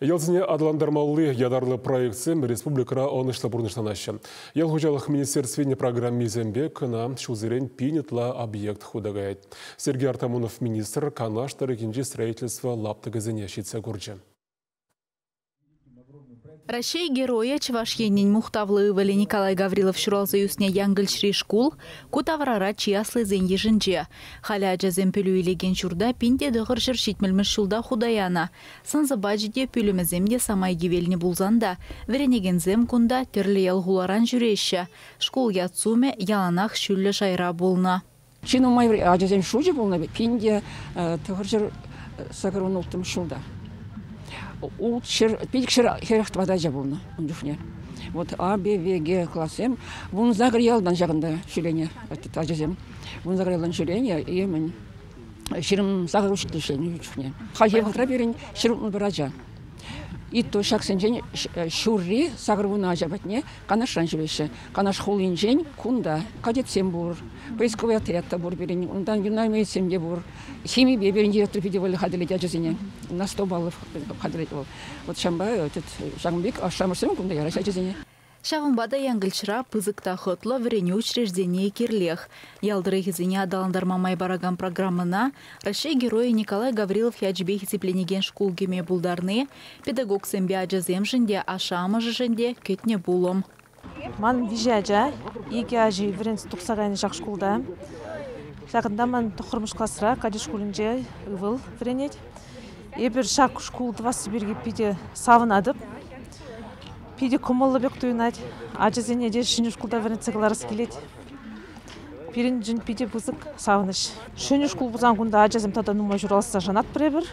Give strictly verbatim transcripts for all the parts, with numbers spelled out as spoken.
Ялсене аталантармалли ятарлӑ проектсем республикӑра ӑнӑҫлӑ пурнӑҫланаҫҫӗ. Ял хуҫалӑх министерствин программисемпе кӑна ҫулсерен пин ытла объект хута каять. Сергей Артамонов министр Канаш тӑрӑхӗнчи строительство лаптӑкӗсене ҫитсе курчӗ. Раҫҫей Геройӗ, Чӑваш Енӗн мухтавлӑ ывӑлӗ Николай Гаврилов ҫуралса ӳснӗ Янкӑлчри шкул ку таврара чи аслисен йышӗнче. Халӗ ачасем пӗлӳ илекен ҫурта пин те тӑхӑр ҫӗр ҫитмӗлмӗш ҫулта хута янӑ. Сӑн-сӑпачӗ те, пӳлӗмӗсем те самай кивелнӗ пулсан та вӗренекенсем кунта тӗрлӗ ял-хуларан ҫӳреҫҫӗ. Шкул ят-сумӗ яланах ҫӳллӗ шайра пулнӑ. Чи нумай ачасен шучӗ пулнӑ пин те тӑхӑр ҫӗр сакӑр вун улттӑмӗш ҫулта. Пилӗк ҫӗр хӗрӗх тӑватӑ ача пулнӑ ун чухне. Вот А, Б, В, Г классем вун сакӑр ялтан ҫакӑнта ҫӳренӗ ачасем. Вун сакӑр ялтан ҫӳренӗ, и мӗн ҫирӗм сакӑр учитель ӗҫленӗ ун чухне. Хальхи вӑхӑтра пирӗн ҫӗр утмӑл пӗр ача. И то ҫаксенчен ҫурри сакӑр вунӑ ача патне Канашран ҫӳреҫҫӗ. Канаш хулинчен кунта кадетсем пур, поисковый отряд та пур пирӗн, унтан юнармеецсем те пур. Химипе пирӗн директор питӗ вӑйлӑ хатӗрлет ачасене, на сто баллов хатӗрлет вӑл. Вот ҫавӑнпа ҫакӑн пек ашшӗ-амӑшсем кунта яраҫҫӗ ачасене. Ҫавӑнпа та Янкӑлчра пысӑк та хӑтлӑ вӗренӳ учрежденийӗ кирлех. Ял тӑрӑхӗсене аталантарма май паракан программӑна Раҫҫей Геройӗ Николай Гаврилов ячӗпе хисепленекен шкул кӗме пултарни педагогсемпе ачасемшӗн те, ашшӗ-амӑшӗшӗн те кӗтнӗ пулӑм. Ман виҫӗ ача, икӗ ачи вӗренсе тухса кайнӑ ҫак шкулта. Ҫакӑнта ман тӑххӑрмӗш класра кадет шкулӗнче ывӑл вӗренет. Эпир ҫак шкул тӑвасси пирки питӗ савӑнатӑп. Питӗ кӑмӑллӑ пек туйӑнать. Ачасене те ҫӗнӗ шкулта вӗрентсе кӑларас килет. Пирӗншӗн питӗ пысӑк савӑнӑҫ. Ҫӗнӗ шкул пулсан кунта ачасем тата нумай ҫураласса шанатпӑр эпир.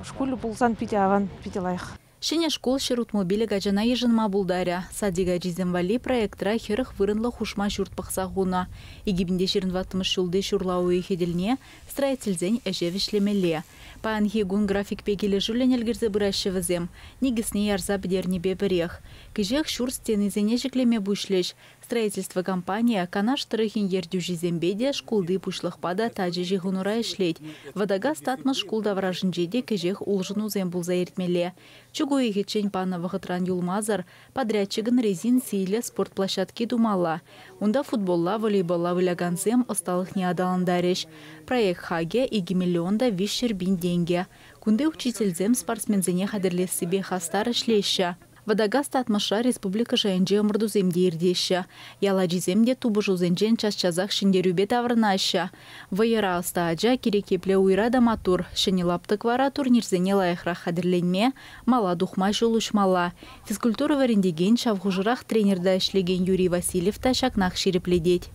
Шкулӗ пулсан питӗ аван, питӗ лайӑх. Ҫӗнӗ шкул ҫӗр утмӑл пилӗк ачана йышӑнма пултарӗ. Садик ачисем валли проектра хӗрӗх вырӑнлӑ хушма ҫурт пӑхса хунӑ. Икӗ пин те ҫирӗм тӑваттӑмӗш ҫулти ҫурла уйӑхӗ тӗлне строительсен ӗҫе вӗҫлемелле. Паянхи кун графикпе килӗшӳллӗн ӗлкӗрсе пыраҫҫӗ вӗсем. Никӗсне ярса пӗтернипе пӗрех. Кӗҫех ҫурт стенисене ҫӗклеме пуҫлӗҫ. Строительство компанийӗ Канаш тӑрӑхӗн ертӳҫисемпе те, шкулти пуҫлӑхпа та тачӑ ҫыхӑнура ӗҫлет. Вӑтакас Татмӑш шкул таврашӗнче те кӗҫех улшӑнусем пулса иртмелле. Чӳк уйӑхӗччен панӑ вӑхӑтран юлмасӑр подрядчикӑн резин сийлӗ спорт площадки тумалла. Унта футболла, волейболла вылякансем ӑсталӑхне аталантарӗҫ. Проект хакӗ икӗ миллион та виҫҫӗр пин тенкӗ. Кунти учительсем спортсменсене хатӗрлессипе хастар ӗҫлеҫҫӗ. Вӑтакас Татмӑшра республика шайӗнче ӑмӑртусем те иртеҫҫӗ. Ял ачисем те тупӑшусенчен час-часах ҫӗнтерӳпе таврӑнаҫҫӗ. Вӑйӑра ӑста ача кирек епле уйра та маттур. Ҫӗнӗ лаптӑк вара турнирсене лайӑхрах хатӗрленме, мала тухма ҫул уҫмалла. Физкультура вӗрентекен ҫав хушӑрах тренерта ӗҫлекен Юрий Васильев та ҫакнах ҫирӗплетет.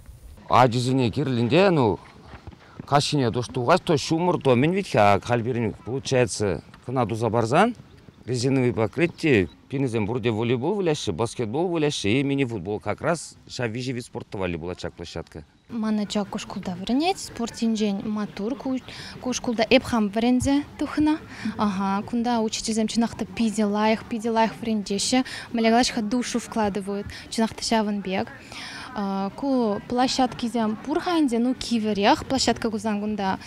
Ачисене кирлӗнде, ну, каҫхине туш тухать, то ҫумӑр, то мӗн вит-ха, халь пирӗн, получается, кӑна туса парсан, резиновый покрытие, пирӗнсем пурте волейбол выляҫҫӗ, баскетбол выляҫҫӗ и мини-футбол. Как раз ҫав виҫӗ вид спорта валли пулать ҫак площадка. Ман ача ку шкулта вӗренет, спорт енчен маттур, ку, ку шкулта эп хам вӗренсе тухнӑ. Ага, кунта учительсем чӑнах та питӗ лайӑх, питӗ лайӑх вӗрентеҫҫӗ. Мӗнле калаҫ-ха, душу вкладывают, чӑнах та ҫавӑн пек. Ку площадкисем пур-ха ӗнтӗ, ну кивӗрех площадка кулсан кунта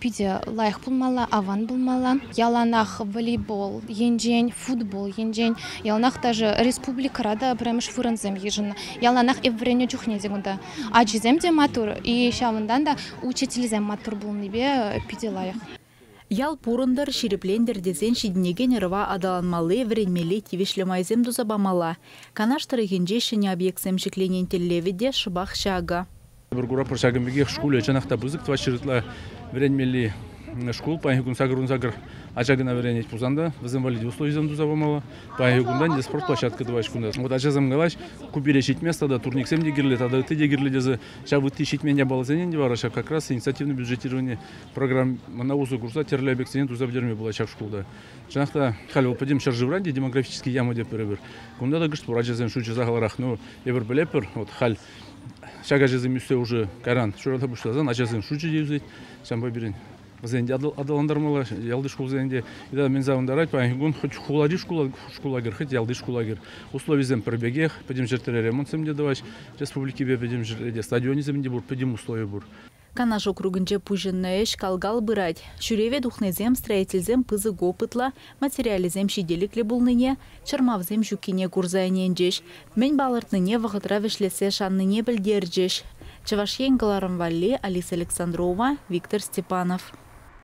питӗ лайӑх пулмалла, аван пулмалла. Яланах волейбол енчен, футбол енчен, яланах даже республикӑра та пӗрремӗш вырӑнсем йышӑннӑ. Яланах эп вӗреннӗ чухне те кунта ачисем те маттур, и ҫавӑнтан та учительсем маттур пулнипе питӗ лайӑх. Ял пурӑнтӑр, ҫирӗплентӗр тесен ҫитӗнекен ӑрӑва аталанмалли, вӗренмелли тивӗҫлӗ майсем туса памалла. Канаш тӑрӑхӗнче ҫӗнӗ объектсем ҫӗкленин тӗллевӗ те шӑпах ҫакӑ. Эпир куратпӑр ҫакӑн пекех шкулӗ чӑнах та пысӑк, тӑватҫӗр ытла вӗренмелли шкул. Паянхи кун сакӑр вун сакӑр ача кӑна вӗренет пулсан та вӗсем валли условисем туса памалла. Паянхи кунтан те спорт площадка тӑваҫ кунта. Вот ачасем калаҫ, ку пире ҫитмест, тата турниксем те кирлӗ, тата ытти те кирлӗ тесе ҫав ытти ҫитмен япаласене те вара ҫак как раз инициативное бюджетирование программӑна усӑ курса тӗрлӗ объектсене туса пӗтерме пулать ҫак шкулта. Чӑнах та халь вӑл пӗтӗм ҫӗршывра те демографический яма теп пӗр-пӗр. Кунта та кӑшт пур ачасен шучӗ сахалрах. Ну, эпир пӗлетпӗр, вот халь ҫак ачасем ӳссе уже кайран ҫуралса пуҫласан ачасен шучӗ те ӳсет. Ҫавӑнпа пирӗн вӗсен те аталантармалла, ялти шкулсен те. Итак, мӗн савӑнтарать, паянхи кун хоть хулари шкула, шкула кӗр, хоть ялти шкула кӗр. Условисем пӗр пекех, пӗтӗм ҫӗртре ремонтсем те тӑваҫ, республикипе пӗтӗм ҫӗртре те стадионӗсем те пур, пӗтӗм услови пур. Канаш округӗнче пуҫӑннӑ ӗҫ кал-кал пырать. Ҫӳреве тухнисем строительсем пысӑк опытлӑ, материалӗсем ҫителӗклӗ пулнине, чӑрмавсем ҫуккине курса ӗненчӗҫ. Мӗн палӑртнине вӑхӑтра вӗҫлессе шаннине пӗлтерчӗҫ. Чӑваш Ен кӑларӑм валли Алиса Александрова, Виктор Степанов.